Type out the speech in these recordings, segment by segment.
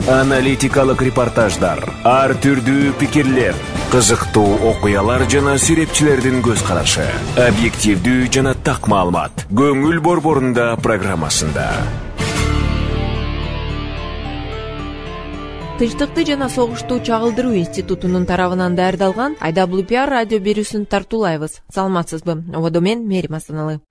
Аналитикалык репортаждар, ар түрдүү пикирлер, кызыктуу окуялар жана сүрөтчүлөрдүн көз карашы, объективдүү жана так маалымат. Көңүл борборунда программасында. Тынчтыкты жана согушту чагылдыруу институтунун тарабынан даярдалган IWPR радио берүүсүн тартуулайбыз. Саламатсызбы? Ободо мен Мерим Асаналы.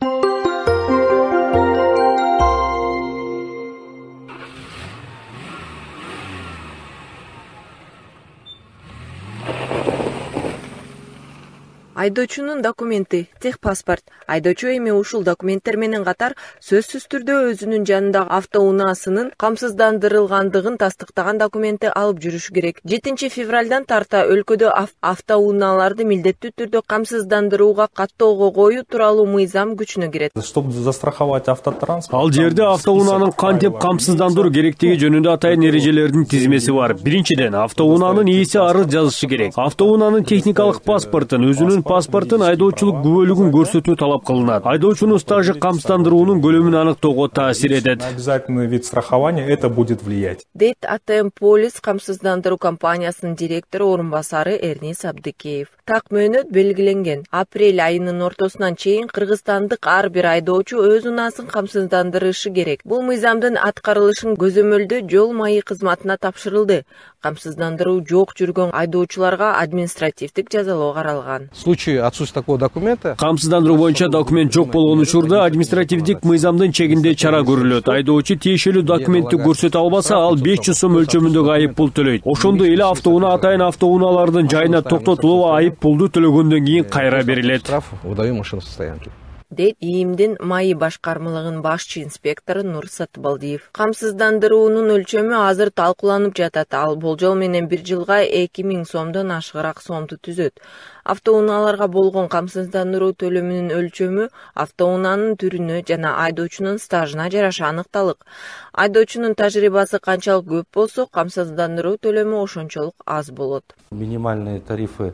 Айдоочунун документи, техпаспорт. Айдоочу эми ушул документтер менен катар сөзсүз түрдө өзүнүн жанындагы автоунаасынын камсыздандырылгандыгын тастыктаган документти алып жүрүшү керек. 7 февралдан тарта өлкөдө автоунааларды милдеттүү түрдө камсыздандырууга каттоого коюу тууралуу мыйзам күчүнө кирет. Чтобы застраховать автотранспорт. Ал жерде автоунаанын кантип камсыздандыруу керектиги жөнүндө атайын эрежелердин тизмеси бар. Биринчиден, автоунаанын ээси арыз жазышы керек. Автоунаанын техникалык паспортун, өзүнүн паспортун, айдоочулук күбөлүгүн көрсөтүү талап кылынат. Айдоочунун стажы камсыздандыруунун көлөмүн аныктоого таасир этет. Обязательный вид страхования это будет влиять. Дейт АТМ Полис камсыздандыруу компаниясынын директору орун басары Эрнис Абдыкеев. Так мөөнөт белгиленген. Апрель айынын ортосунан чейин кыргызстандык ар бир айдоочу өз унаасын камсыздандырышы керек. Бул мыйзамдын аткарылышын көзөмөлдөө жол майы кызматына тапшырылды. Камсыздандыруу жок жүргөн айдоочуларга административдик жазалоо каралган. В случае отсутствия такого документа, камсыздандыруу боюнча документ жок болгон учурда административдик мыйзамдын чегинде чара көрүлөт. Айдоочу тиешелүү документти көрсөтө албаса, ал 500 сом өлчөмүндөгү айып пул төлөйт. Ошондой эле автоунаа атайын автоунаалардын жайына токтотулуп, айып пулду төлөгөндөн кийин кайра берилет. штраф выдаю машину состоянки. Дейт ИИМдин майы башкармалыгынын башчы инспектору Нур Сатыбалдиев. Камсыздандыруунун өлчөмү азыр талкууланып жатат. Ал болжол менен 1 жылга 2000 сомдон ашыгыраак сомду түзөт. Автоунааларга болгон камсыздандыруу төлөмүнүн өлчөмү автоунаанын түрүнө жана айдоочунун стажына жараша аныкталык. Айдоочунун тажрыйбасы канчалык көп болсо, камсыздандыруу төлөмү ошончолук аз болот. Минимальные тарифы,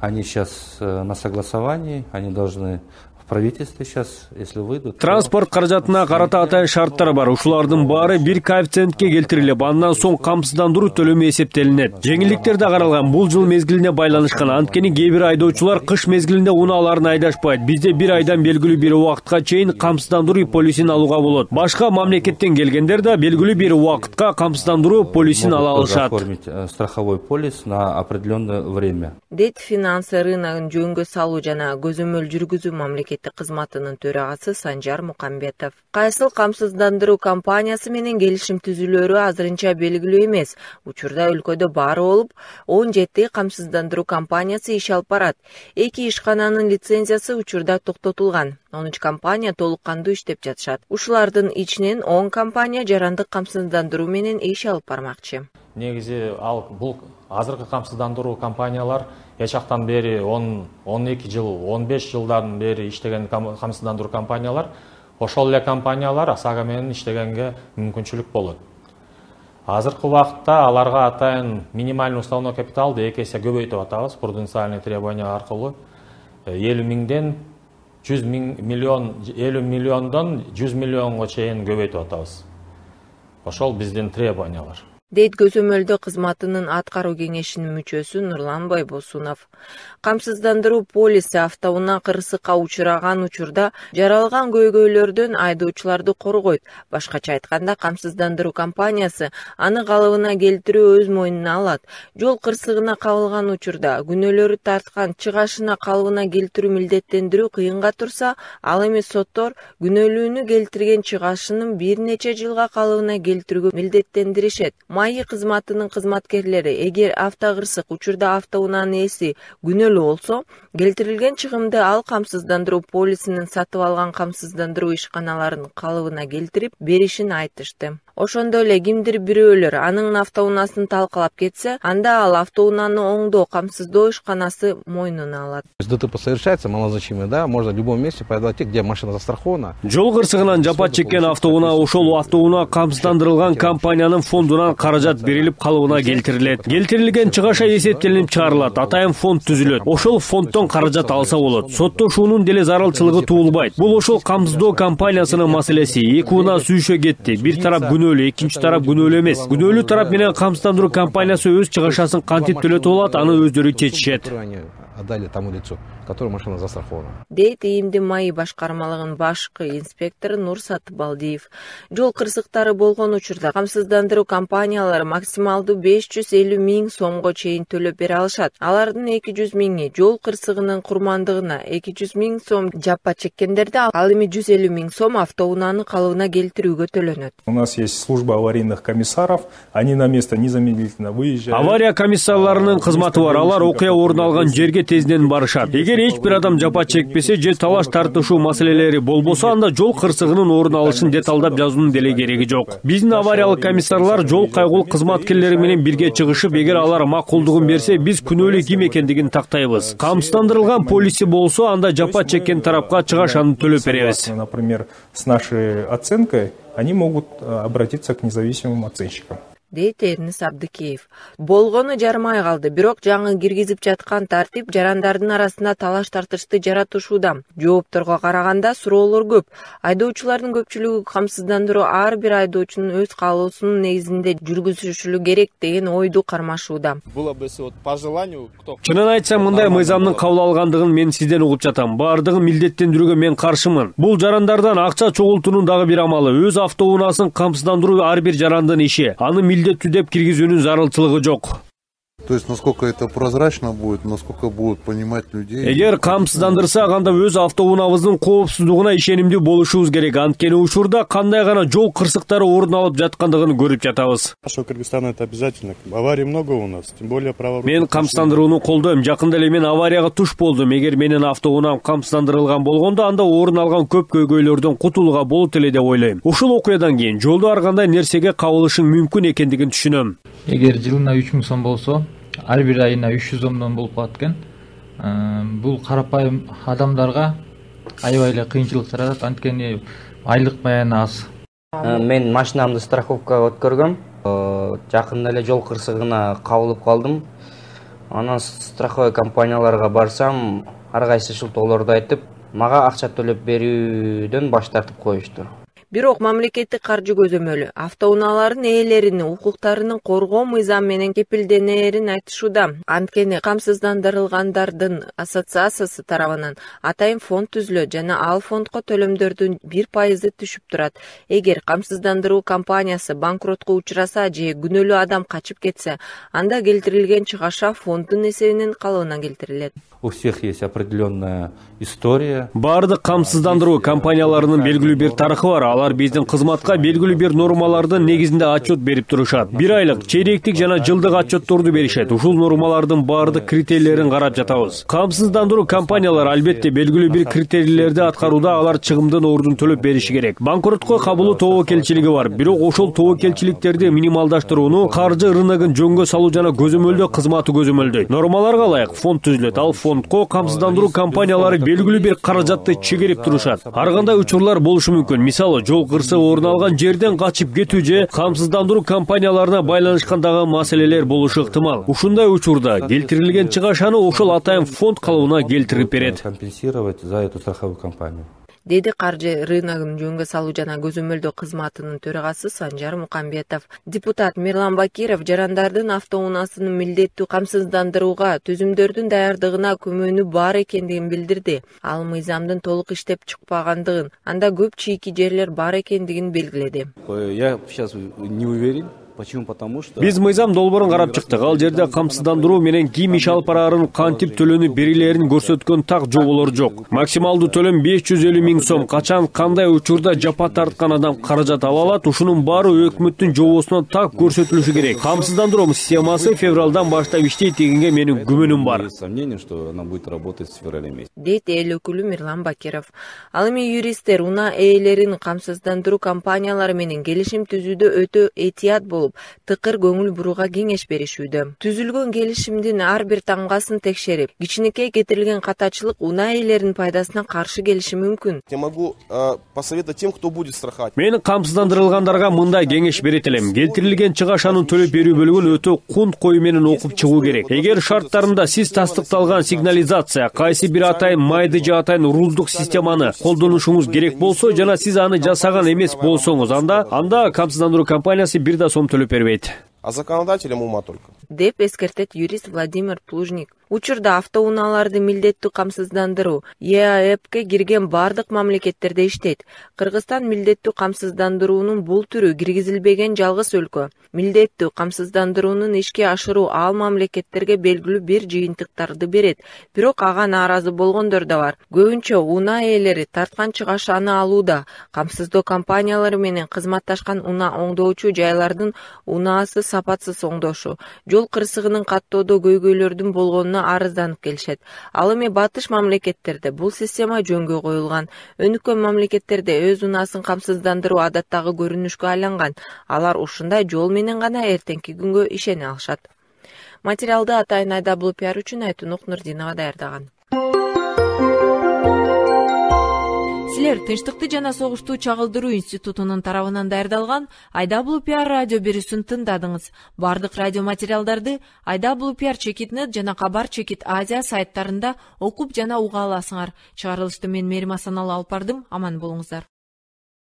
они сейчас на согласовании, они должны в правительстве сейчас, если выйдут. Транспорт каражатына карата атайын шарттар бар. Ушулардын баары бир коэффициентке келтирилип, андан соң камсыздандыруу төлөмү эсептелинет. Жеңилдиктер да каралган. Бул жыл мезгилине байланышкан. Анткени кээ бир айдоочулар кыш мезгилинде унааларын айдашпайт. Бизде 1 айдан белгилүү бир убакытка чейин камсыздандыруу полисин алууга болот. Башка мамлекеттен келгендер да белгилүү бир убакытка камсыздандыруу полисин ала алышат. Оформить страховой полис на определенное время. Дейт финанс рыногун жөнгө салуу жана көзөмөл жүргүзүү мамлекеттик кызматынын төрагасы Санжар Мукамбетов. Кайсыл камсыздандыруу компаниясы менен келишим түзүлөрү азырынча белгилүү эмес. Учурда өлкөдө баары болуп 17 камсыздандыруу компаниясы иш алып барат. 2 ишкананын лицензиясы учурда токтотулган. 13 компания толук кандуу иштеп жатышат. Ушулардын ичинен 10 компания жарандык камсыздандыруу менен иш алып бармакчы. Негизи бул азыркы камсыздандыруу компаниялар эчактан бери 10-12 жыл, 15 жылдан бери иштеген камсыздандыруу компаниялар, ошол эле компаниялар ОСАГО менен иштегенге мүмкүнчүлүк болот. Азыркы убакытта аларга атайын минимальный уставной капиталды 2 эсе көбөйтүп атабыз, пруденциальный требования аркылуу 50 миңден 100 миллион, 50 миллиондон 100 миллионго чейин көбөйтүп атабыз. Ошол биздин требованиялар. Дейт көзөмөлдөө кызматынын аткаруу кеңешинин мүчөсү Нурлан Байбосунов. Камсыздандыруу полиси автоунаа кырсыкка учураган учурда жаралган көйгөйлөрдөн айдоочуларды коргойт. Башкача айтканда, камсыздандыруу компаниясы аны калыбына келтирүү өз мойнуна алат. Жол кырсыгына кабылган учурда күнөөлөрү тарткан чыгашына калыбына келтирүү милдеттендирүү кыйынга турса, ал эми соттор күнөөлүүнү келтирген чыгашынын бир нече жылга калыбына келтирүүгө милдеттендиришет. Майы кызматынын кызматкерлери эгер автокырсык учурда автоунаанын ээси күнөөлүү болсо, келтирилген чыгымды ал камсыздандыруу полисинин сатып алган камсыздандыруу ишканаларынын калыбына келтирип беришин айтышты. Ошондой эле кимдир бирөөлөр анын автоунаасын талкалап кетсе, анда ал автоунааны оңдоо, камсыздоо ишканасы мойнуна алат. ДТП совершается малозначимый, да, можно в любом месте подойти, где машина застрахована. Жол кырсыгынан жапат чеккен автоунаа ошол автоунаа камсыздандырылган компаниянын фондунан каражат берилип калыбына келтирилет. Келтирилген чыгаша эсептелинип чыгарылат, атайын фонд түзүлөт. Ошол фонддон каражат алса болот. Соттошуунун деле зарылчылыгы туулбайт. Бул ошол камсыздоо компаниясынын маселеси. Эки унаа сүйүшө кетти. Бир тарап күнөөлүү, экинчи тарап күнөөлүү эмес. Күнөөлүү тарап менен камсыздандыруу компаниясы өз чыгышасын кантип төлөтүп алат, аны өздөрү чечишет. Отдали тому лицу, которое машина застрахована. Дейт ИИМдин МАИ башкармалыгынын башкы инспектору Нур Сатыбалдиев. Жол кырсыктары болгон учурда камсыздандыруу компаниялары максималдуу 550 миң сомго чейин төлөп бере алышат. Алардын 200 миңи жол кырсыгынын курмандыгына, 200 миң сом жапа чеккендерде, ал эми 150 миң сом автоунааны калыбына келтирүүгө төлөнөт. У нас есть служба аварийных комиссаров, они на место незамедлительно выезжают. Авария комиссарларынын кызматы бар, алар окуя орун алган жерге тезден барышат. Эгер эч бир адам жапа чекпесе же талаш тартышуу маселелери болбосо, анда жол кырсыгынын орун алышын деталдап жазуунун деле кереги жок. Биздин авариялык комиссарлар жол кайгул кызматкерлери менен бирге чыгышып, эгер алар макулдугун берсе, биз күнөөлүү ким экендигин тактайбыз. Камсыздандырылган полиси болсо, анда жапа чеккен тарапка чыгашаны төлөп беребиз. Например, с нашей оценкой они могут обратиться к независимым оценщикам. Дейт Эрнис Абдыкеев. Болгону жарымай калды, бирок жаңы киргизип жаткан тартип жарандардын арасында талаш тартышты жаратышууда. Жоопторго караганда суроолор көп. Айдоочулардын көпчүлүгү камсыздандыруу ар бир айдоочунун өз каалоосунун негизинде жүргүзүшүлү керек деген ойду кармашууда. Чынын айтсам, мындай мыйзамдын кабыл алгандыгын мен сизден угуп жатам. Бардыгын милдеттендирүүгө мен каршымын. Бул жарандардан акча чогултуунун дагы бир амалы. Өз автоунаасын камсыздандыруу ар бир жарандын иши. Аны милдеттүү деп киргизүүнүн зарылчылыгы жок. То есть, насколько это прозрачно будет, насколько будут понимать людей. Эгер камсыздандырсак, анда өз автоунаабыздын коопсуздугуна ишенимдүү болушубуз керек. Анткени учурда кандай гана жол кырсыктары орун алып жаткандыгын көрүп жатабыз. Кыргызстан это обязательно. Аварий много у нас, тем более праворульных. Мен камсыздандырууну колдойм. Жакында эле мен аварияга туш болдум. Эгер менин автоунаам камсыздандырылган болгондо, анда орун алган көп көйгөйлөрдөн кутулууга болот эле деп ойлойм. Ушул окуядан кийин жолдо ар кандай нерсеге кабылышың мүмкүн экендигин түшүнөм. Эгер жылына 3 миң сом болсо, ар бир айына 300 сомдон болуп калат экен. Бул карапайым адамдарга аябай эле кыйынчылык жаратат, анткени айлык баяны аз. Мен машинамды страховкага өткөргөм. Жакында эле жол кырсыгына кабылып калдым. Анан страховой компанияларга барсам, ар кайсы шылтоолорду айтып, мага акча төлөп берүүдөн баш тартып коюшту. Бирок мамлекеттик каржы көзөмөлү автоунаалардын ээлеринин укуктарынын коргоо мыйзам менен кепилденээрин айтышууда. Анткени камсыздандырылгандардын ассоциациясы тарабынан атайын фонд түзүлөт жана ал фондко төлөмдөрдүн 1% түшүп турат. Эгер камсыздандыруу компаниясы банкротко учураса же күнөөлүү адам качып кетсе, анда келтирилген чыгаша фонддун эсебинен калыбына келтирилет. У всех есть определенная история. Бардык камсыздандыруу компанияларынын белгилүү бир тарыхы бар. Алар биздин кызматка белгилүү бир нормалардын негизинде отчет берип турушат. Бир айлык, чейректик жана жылдык отчетторду беришет. Ушул нормалардын бардык критерийлерин карап жатабыз. Камсыздандыруу компаниялар албетте белгилүү бир критерийлерди аткарууда алар чыгымдын ордун төлөп бериши керек. Банкротко кабылуу тобокелчилиги бар. Бирок ошол тобокелчиликтерди минималдаштырууну каржы рыногун жөнгө салуу жана көзөмөлдөө кызматы көзөмөлдөйт. Нормаларга ылайык фонд түзүлөт. Ал фондко камсыздандыруу компаниялары белгилүү бир каражатты чегерип турушат. Ар кандай учурлар болушу мүмкүн. Мисалы, жол кырсыгы орун алган жерден качып кетүү же камсыздандыруу компанияларына байланышкандагы маселелер болушу ыктымал. Ушундай учурда келтирилген чыгашаны ошол атайын фонд калыбына келтирип берет. Компенсировать за эту страховую компанию. Деди каржы рыногун жөнгө салуу жана көзөмөлдөө кызматынын төрагасы Санжар Мукамбетов. Депутат Мирлан Бакиров жарандардын автоунаасынын милдеттүү камсыздандырууга түзүмдөрдүн даярдыгына күмөнү бар экендигин билдирди. Ал мыйзамдын толук иштеп чыкпагандыгын, анда көп чийки жерлер бар экендигин белгиледи. Я сейчас не уверен. Почему? Потому что биз мыйзам долбоорун карап чыктык. Ал жерде камсыздандыруу менен ким иш алып барарын, кантип төлөнүп берилерин көрсөткөн так жоболор жок. Максималдуу төлөм 550 миң сом. Качан кандай учурда жапа тарткан адам каражат ала алат, ушунун баары өкмөттүн жобосунан так көрсөтүлүшү керек. Камсыздандыруу системасы февралдан баштап иштейт дегенге менин күмөнүм бар. Сомнение, что она будет работать с февраля месяца. Дейт эл өкүлү Мирлан Бакиров. Ал эми юристтер унаа ээлерин камсыздандыруу компаниялары менен келишим түзүүдө өтө этият болуп болуп, тыкыр көңүл бурууга кеңеш беришүүдө. Түзүлгөн келишимдин ар бир таңгасын текшерип, кичинекей кетирилген катачылык унаа ээлеринин пайдасына каршы келиши мүмкүн. Я могу посоветовать тем, кто будет страховать. Мен камсыздандырылгандарга мындай кеңеш берет элем. Келтирилген чыгашанын төлөп берүү бөлүгүн өтө кунт коюу менен окуп чыгуу керек. Эгер шарттарында сиз тастыкталган сигнализация, кайсы бир атайын майды же атайын уруздук системаны колдонушуңуз керек болсо жана сиз аны жасаган эмес болсоңуз, анда камсыздандыруу компаниясы бир да сом төлөп бербейт. А законодателям ума только. Деп эскертет юрист Владимир Плужник. Учурда автоунааларды милдеттүү камсыздандыруу ЕАЭПке кирген бардык мамлекеттерде иштейт. Кыргызстан милдеттүү камсыздандыруунун бул түрү киргизилбеген жалгыз өлкө. Милдеттүү камсыздандыруунун ишке ашыруу ал мамлекеттерге белгилүү бир жыйынтыктарды берет, бирок ага нааразы болгондор да бар. Көбүнчө унаа ээлери тарткан чыгашаны алууда. Камсыздоо компаниялары менен кызматташкан унаа оңдоочу жайлардын унаасы сапатсыз оңдошу, жол кырсыгынын каттоодо көйгөйлөрдүн болгонуна арызданып келишет. Ал эми батыш мамлекеттерде бул система жөнгө коюлган. Өнүккөн мамлекеттерде өз унаасын камсыздандыруу адаттагы көрүнүшкө айланган. Алар ушундай жол менен гана эртеңки күнгө ишене алышат. Материалды атайын IWPR үчүн Айтунук Нурдинова даярдаган. Силер Тынчтыкты жана согушту чагылдыруу институтунун тарабынан даярдалган IWPR радио берүүсүн тыңдадыңыз. Бардык радио материалдарды IWPR-net жана Кабар Азия сайттарында окуп жана уга аласыңар. Чыгарылышты мен Мерим Асаналы алып бардым. Аман болуңуздар.